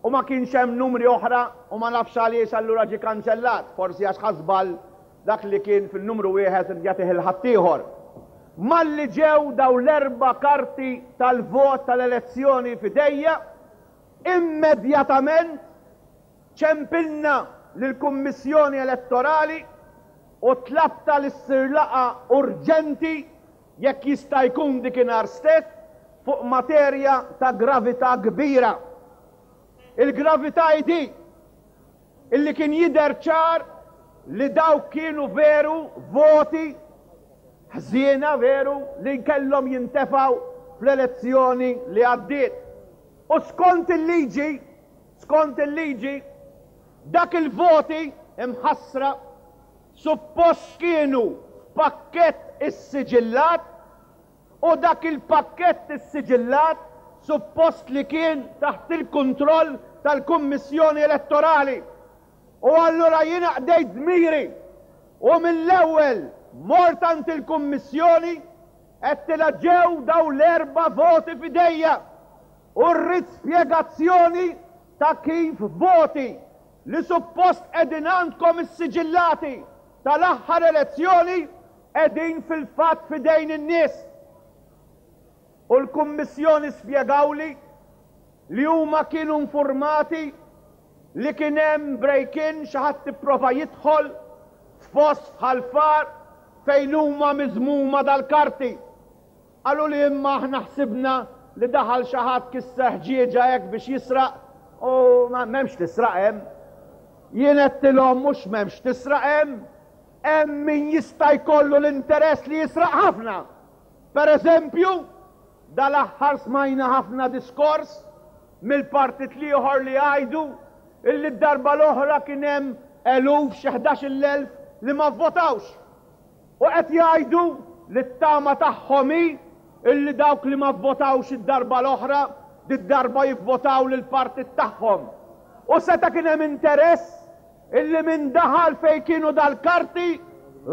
u ma kienx hemm numri oħra u ma nafx għaliex allura ġie kanċellat, forsi għax ħa żball dak li kien fin-numru wieħed ried jagħtih 'il ħaddieħor. Malli ġew dawn l-erba' karti tal-vot tal-elezzjoni f'idejja, immedjatament ċempilna lill-Kummissjoni Elettorali u tlabtha li ssir laqgħa urġenti jekk jista' jkun dikinhar stess, fuq materja ta' gravità kbira. Il-gravità hi din, illi kien jidher ċar li dawk kienu veru voti ħżiena veru li kellhom jintefgħu fl-elezzjoni li għaddiet. U skont il-liġi, skont il-liġi, dak il-voti imħassra suppost kienu f'pakkett issiġillat u dak il-pakkett issiġillat suppost li kien taħt il-kontroll tal-Kummissjoni Elettorali. U allura jiena qdejt dmiri u mill-ewwel mort għand il-Kummissjoni għedtilha ġew dawn l-erba' voti f'idejja u rrid spjegazzjoni ta' kif voti li suppost qegħdin għandkom issiġillati tal-aħħar elezzjoni qegħdin fil-fatt f'idejn in-nies. U l-Kummissjoni spjegawli li huma kienu nfurmati li kien hemm break-in, xi ħadd ipprova jidħol f'post f'Ħal Far fejn huma miżmuma dal-karti. Qaluli imma aħna ħsibna li daħal xi ħadd kisser ħġieġa hekk biex jisraq u m'hemmx tisraq hemm. Jien għedtilhom mhux m'hemmx tisraq hemm, hemm min jista' jkollu l-interess li jisraq ħafna. Per eżempju, dal-aħħar smajna ħafna diskors mill-partit l-ieħor li jgħidu illi d-darba l-oħra kien hemm eluf xi 11,000 li ma vvotawx. U qed jgħidu li t-tama tagħhom hi illi dawk li ma vvotawx id-darba l-oħra, did-darba jivvotaw lill-partit tagħhom. U seta' kien hemm interess illi min daħal fejn kienu dal-karti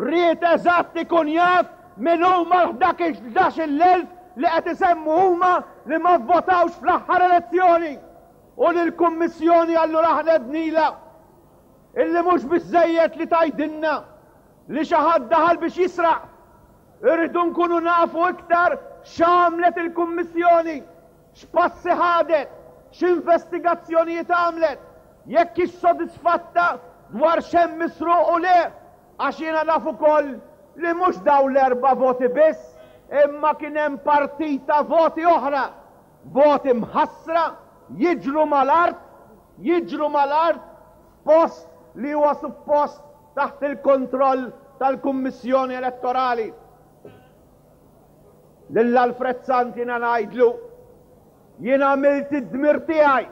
ried eżatt ikun jaf min huma l-ħdax-il elf li qed isemmu huma li ma vvotawx fl-aħħar elezzjoni. U lill-Kummissjoni allura aħna għednilha illi mhux biżżejjed li tgħidilna li xi ħadd daħal biex jisraq. Irridu nkunu nafu iktar x'għamlet il-Kummissjoni, x'passi ħadet. x'investigazzjonijiet għamlet, jekk hix sodisfatta dwar x'hemm misruq u le, għax jiena naf ukoll li mhux dawn l-erba' voti biss imma kien hemm partita voti oħra, voti mħassra jiġru mal-art, jiġru mal-art f'post li huwa suppost taħt il-kontroll tal-Kummissjoni Elettorali. Lil Alfred Sant jiena ngħidlu, jien għamilt id-dmir tiegħi.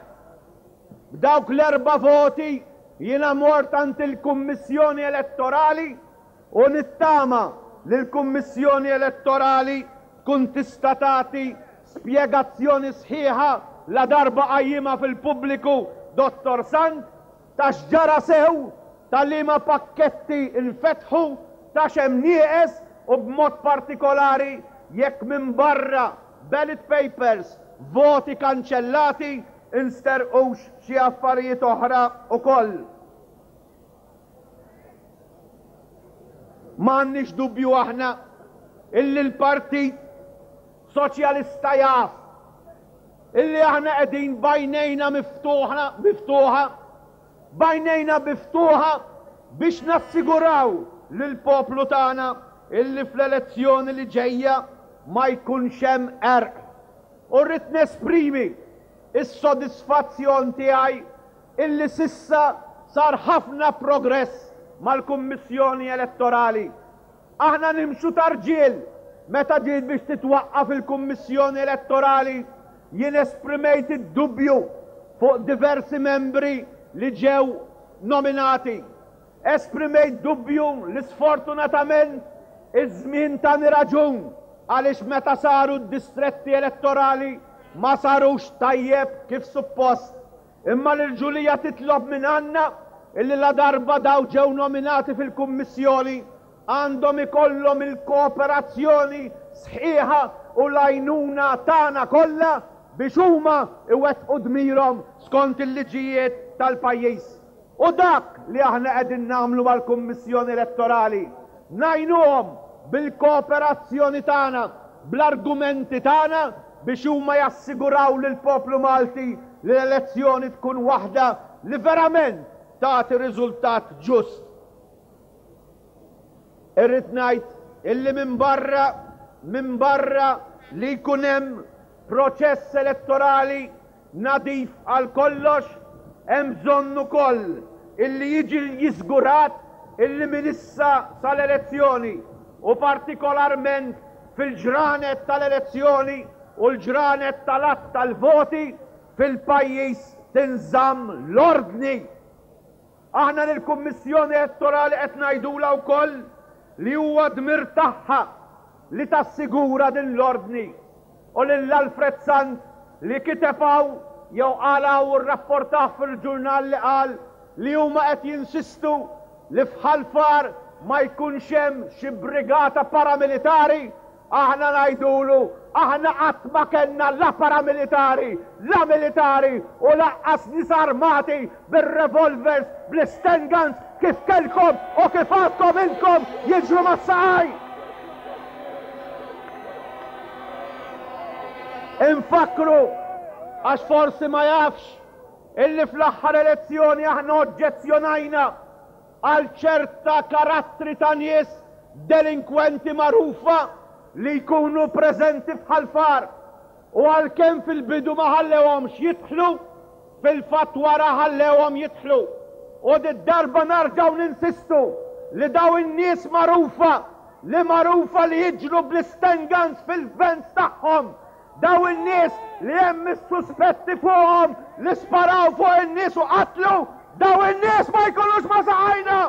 B'dawk l-erba' voti jiena mort għand il-Kummissjoni Elettorali u nittama li l-Kummissjoni Elettorali tkun tista' tagħti spjegazzjoni sħiħa ladarba qajjimha fil-pubbliku Dottor Sant ta' x'ġara sew, ta' liema pakketti nfetħu, ta' x'hemm nieqes u b'mod partikolari jekk minbarra ballot papers, voti kanċellati, insterqux xi affarijiet oħra ukoll. Ma għandniex dubju aħna illi l-Partit Soċjalista jaf illi aħna qegħdin b'għajnejna miftuħa, miftuħa, b'għajnejna miftuħa biex nassiguraw lill-poplu tagħna illi fl-elezzjoni li ġejja ma jkunx hemm qerq. U rrid nesprimi s-sodisfazzjon tiegħi illi s'issa sar ħafna progress mal-Kummissjoni Elettorali. Aħna nimxu ta' rġiel. Meta ġiet biex titwaqqaf il-Kummissjoni Elettorali, jien esprimejt id-dubju fuq diversi membri li ġew nominati. Esprimejt dubju li sfortunatament iż-żmien tani raġun għaliex meta saru d-distretti elettorali ma sarux tajjeb kif suppost. Imma l-irġulija titlob minn għandna illi ladarba daw ġew nominati fil-Kummissjoni, għandhom ikollhom il-kooperazzjoni sħiħa u l-għajnuna tagħna kollha biex huma jwettqu dmirhom skont il-liġijiet tal-pajjiż. U dak li aħna qegħdin nagħmlu mal-Kummissjoni Elettorali, ngħinuhom bil-kooperazzjoni tagħna, bl-argumenti tagħna biex huma jassiguraw lill-poplu Malti li l-elezzjoni tkun waħda li verament tagħti riżultat ġust. Irrid ngħid illi minbarra minbarra li jkun hemm proċess elettorali nadif għal kollox, hemm bżonn ukoll illi jiġi jiżgurat illi minn issa sal-elezzjoni u partikolarment fil-ġranet tal-elezzjoni u l-ġranet tal-għadd tal-voti fil-pajjiż tinżamm l-ordni. Aħna lill-Kummissjoni Elettorali qed ngħidulha wkoll li huwa dmir tagħha li tassigura din l-ordni u lil Alfred Sant li kiteb hawn jew qal hawn u rrapportah fil-ġurnal li qal li huma qed jinsistu li f'Ħal Far ma jkunx hemm xi brigata paramilitari, aħna ngħidulu aħna qatt ma kellna la paramilitari, la militari u lanqas nies armati bir-revolvers, bl-sten guns kif kellkom u kif għadkom intkom jiġru mas-saqaj! Infakkru, għax forsi ma jafx, illi fl-aħħar elezzjoni aħna oġġezzjonajna għal ċerta karattri ta' nies delinkwenti magħrufa li jkunu preżenti f'Ħal Far u għalkemm fil-bidu ma ħallewhomx jidħlu, fil-fatt wara ħallewhom jidħlu. U did-darba narġgħu ninsistu li dawn in-nies magħrufa li magħrufa li jiġru bl-isten guns fil-vans tagħhom, dawn in-nies li hemm is-suspetti fuqhom li sparaw fuq in-nies u qatlu, dawn in-nies ma jkunux ma' saqajna!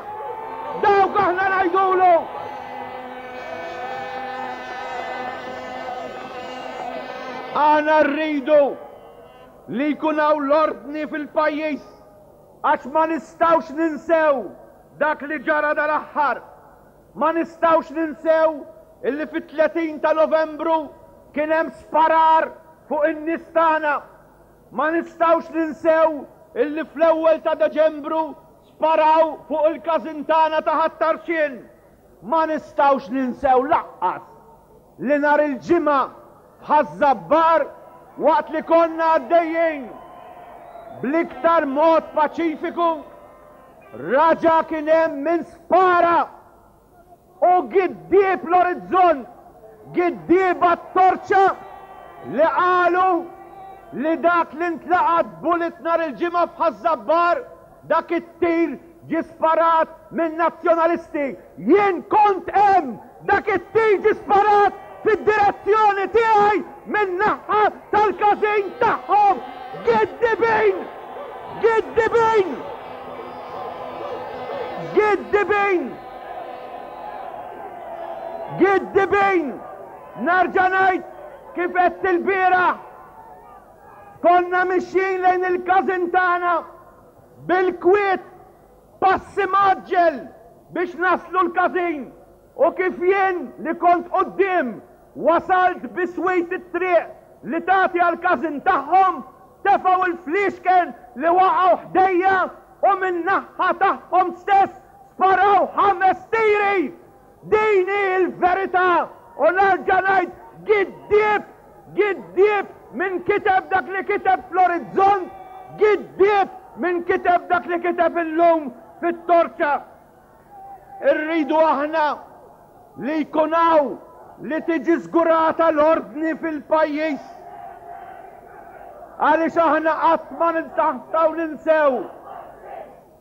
Dawk aħna ngħidulu! Aħna rridu li jkun hawn l-ordni fil-pajjiż għax ma nistgħux ninsew dak li ġara dal-aħħar. Ma nistgħux ninsew illi fit-30 ta' Novembru kien hemm sparar fuq in-nies tagħna. Ma nistgħux ninsew illi fl-ewwel ta' Deċembru sparaw fuq il-każin tagħna ta' Ħat-Tarxien. Ma nistgħux ninsew lanqas li nhar il-Ġimgħa f'Ħaż-Żabbar waqt li konna għaddejjin. bl-iktar mod paċifiku, raġa' kien hemm min spara u giddieb l-orizzont, giddieba t-torċa li qalu li dak li ntlaqat bullet nhar il-Ġimgħa f'Ħaż-Żabbar, dak it-tir ġie sparat minn Nazzjonalisti. Jien kont hemm! Dak it-tir ġie sparat fid-direzzjoni tiegħi min-naħa tal-każin tagħhom! Giddibin! Giddibin! Giddibin! Giddibin! Nerġa' ngħid kif għedt ilbieraħ, konna mixjin lejn il-każin tagħna bil-kwiet, passi mgħaġġel biex naslu l-każin u kif jien li kont quddiem wasalt biswit it-triq li tagħti għall-każin tagħhom, tefgħu l-fliexken li waqgħu ħdejja u min-naħha tagħhom stess sparaw ħames tiri! Din hi l-verità u nerġa' ngħid giddieb, giddieb min kiteb dak li kiteb fl-Orizzont, giddieb min kiteb dak li kiteb illum fit-Torċa. Irridu aħna li jkun hawn li tiġi żgurata l-ordni fil-pajjiż. Għaliex aħna qatt ma nistgħu ninsew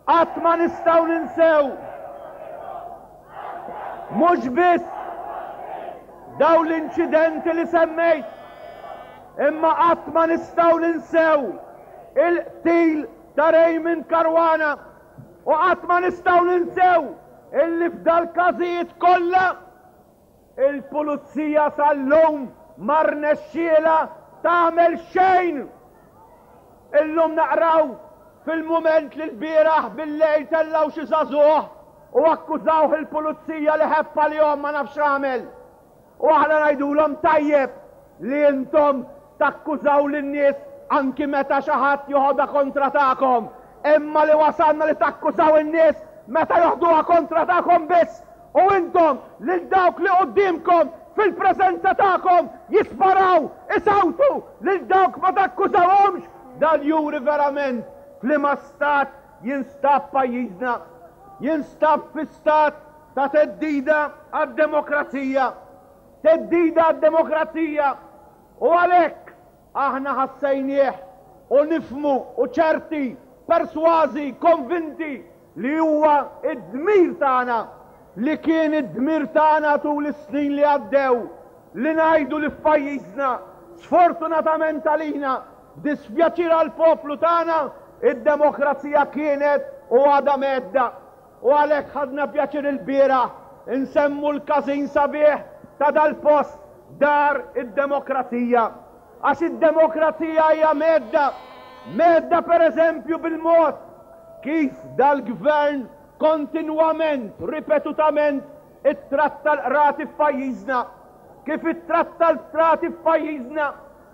Qatt ma nistgħu ninsew mhux biss dawn l-inċidenti li semmejt, imma qatt ma nistgħu ninsew il-qtil ta' Raymond Caruana u qatt ma nistgħu ninsew illi f'dal-każijiet kollha Il-Pulizija sal-lum ma rnexxielha tagħmel xejn! Illum naqraw fil-Mument li lbieraħ bil-lejl tellgħu xi żagħżugħ u akkużawh il-Pulizija li ħebb għalihom ma nafx x'għamel. U aħna ngħidulhom tajjeb li intom takkużaw lin-nies anki meta xi ħadd joħodha kontra tagħkom, imma li wasalna li takkużaw in-nies meta joħduha kontra tagħkom biss U intom, lil dawk li quddiemkom, fil-preżenza tagħkom, jisparaw, isawtu, lil dawk ma takkużawhomx, dan juri verament f'liema stat jinstab pajjiżna. Jinstab fi stat ta' theddida għad-demokrazija. Theddida għad-demokrazija. U għalhekk aħna ħassejnieh u nifhmu u ċerti, persważi, konvinti li huwa d-dmir tagħna, li kien id-dmir tagħna tul is-snin li għaddew, li ngħidu li f'pajjiżna, sfortunatament għalina, b'dispjaċir għall-poplu tagħna, id-demokrazija kienet u għadha mhedda. U għalhekk ħadna pjaċir ilbieraħ insemmu l-każin sabiħ ta' dal-post, Dar id-Demokrazija. Għax id-demokrazija hija mhedda, mhedda pereżempju bil-mod kif dal-Gvern kontinwament, ripetutament ittratta l-qrati f'pajjiżna, kif ittratta l-qrati f'pajjiżna,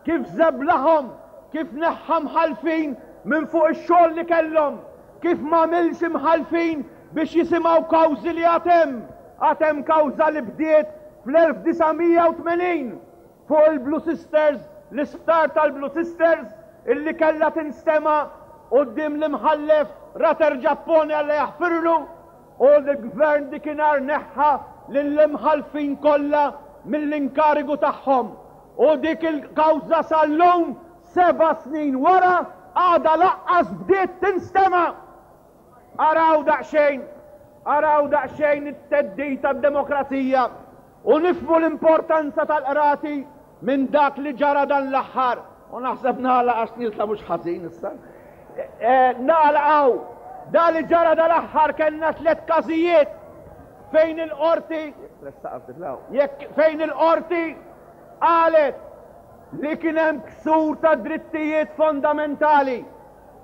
kif żeblaħhom, kif neħħa mħallfin minn fuq ix-xogħol li kellhom, kif m'għamilx imħallfin biex jisimgħu kawżi li għad hemm, għad hemm kawża li bdiet fl-1980. Fuq il-Blue Sisters, l-isptar tal-Blue Sisters illi kellha tinstema' quddiem l-Imħallef Rater Ġappone Alla jaħfirlu, u l-Gvern dikinhar neħħa lill-imħallfin kollha mill-inkarigu tagħhom. U dik il-kawża sal-lum, seba' snin wara, għadha laqqas bdiet tinstema'! Araw daqsxejn, araw daqsxejn it-theddid għad-demokrazija u nifhmu l-importanza tal-qrati minn dak li ġara dan l-aħħar. U naħseb nagħlaq għax nieżla mhux ħażin issa. Nagħlaq hawn. Dan li ġara dal-aħħar kellna tlett każijiet fejn il-qorti jekk fejn il-qorti qalet li kien hemm ksur ta' drittijiet fondamentali.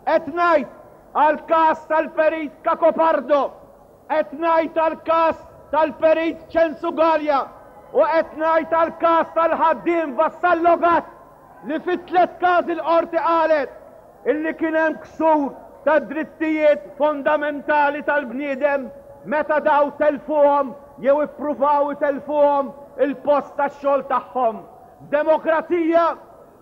Qed ngħid għall-każ tal-Perit Cacopardo, qed ngħid għall-każ tal-Perit Ċensu Galea u qed ngħid għall-każ tal-ħaddiem Vassallo Gatt li fit-tlett każi l-Qorti qalet illi kien hemm ksur tad-drittijiet fondamentali tal-bniedem meta daw telfuhom jew ippruvaw itellfuhom il-post tax-xogħol tagħhom. F'demokrazija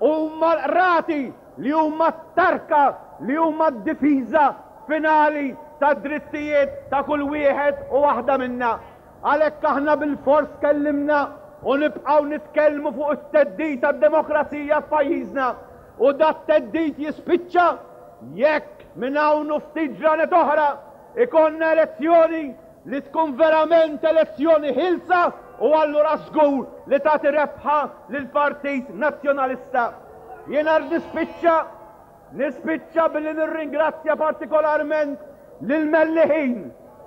huma l-qrati li huma t-tarka li huma d-difiża finali tad-drittijiet ta' kull wieħed u waħda minna. Għalhekk aħna bilfors tkellimna u nibqgħu nitkellmu fuq it-theddid għad-demokrazija f'pajjiżna u dat-theddid jispiċċa jekk minn hawn u ftit ġranet oħra ikollna elezzjoni li tkun verament elezzjoni ħielsa u allura żgur li tagħti rebħa lill-Partit Nazzjonalista. Jiena nispiċċa Nispiċċa billi nirringrazzja partikolarment lill-Melliħin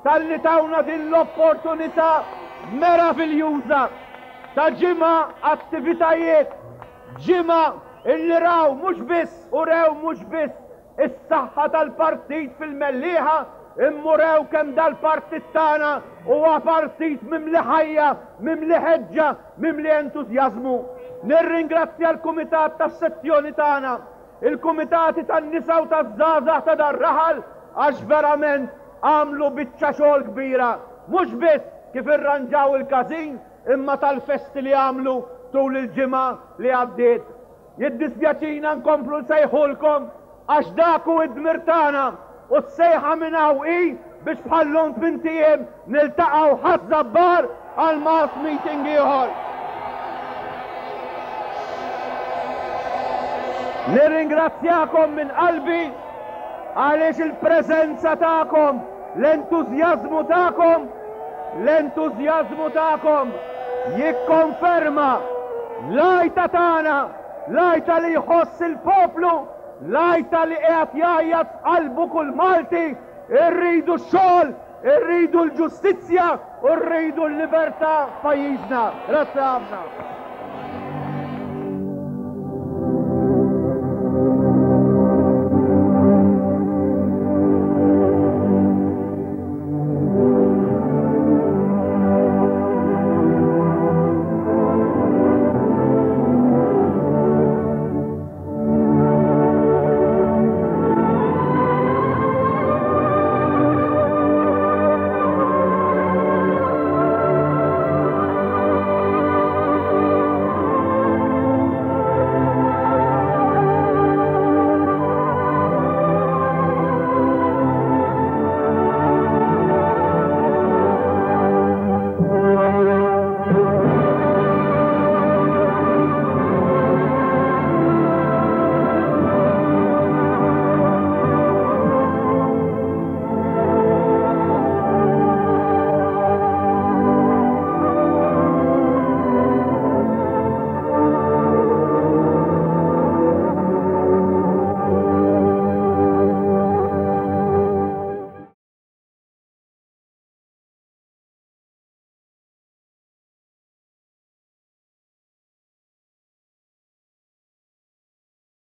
talli tawna din l-opportunità meraviljuża ta' ġimgħa attivitajiet, ġimgħa illi raw mhux biss u rew mhux biss is-saħħa tal-partit fil-Mellieħa imma urew kemm dal-partit tagħna huwa partit mimli ħajja, mimli ħeġġa, mimli entużjażmu. Nirringrazzja l-kumitat tas-sezzjoni tagħna, il-kumitati tan-nisa u taż-żgħażagħ ta' dar-raħal għax verament għamlu biċċa xogħol kbira, mhux biss kif irranġaw il-każin imma tal-festi li għamlu tul il-ġimgħa li għaddiet. Jiddispjaċina nkomplu nsejħulkom għax dak hu d-dmir tagħna u s-sejħa minn hawn hi biex bħal-lum tmint ijiem niltaqgħu Ħaż-Żabbar għal mass meeting ieħor. Nirringrazzjakom minn qalbi għaliex il-preżenza tagħkom, l-entużjażmu tagħkom, l-entużjażmu tagħkom jikkonferma l-għajta tagħna, l-għajta li jħoss il-poplu, l-għajta li qiegħed jgħajjat f'qalbu kull Malti, irridu x-xogħol, irridu l-ġustizzja u rridu l-libertà f'pajjiżna. Grazzi ħafna.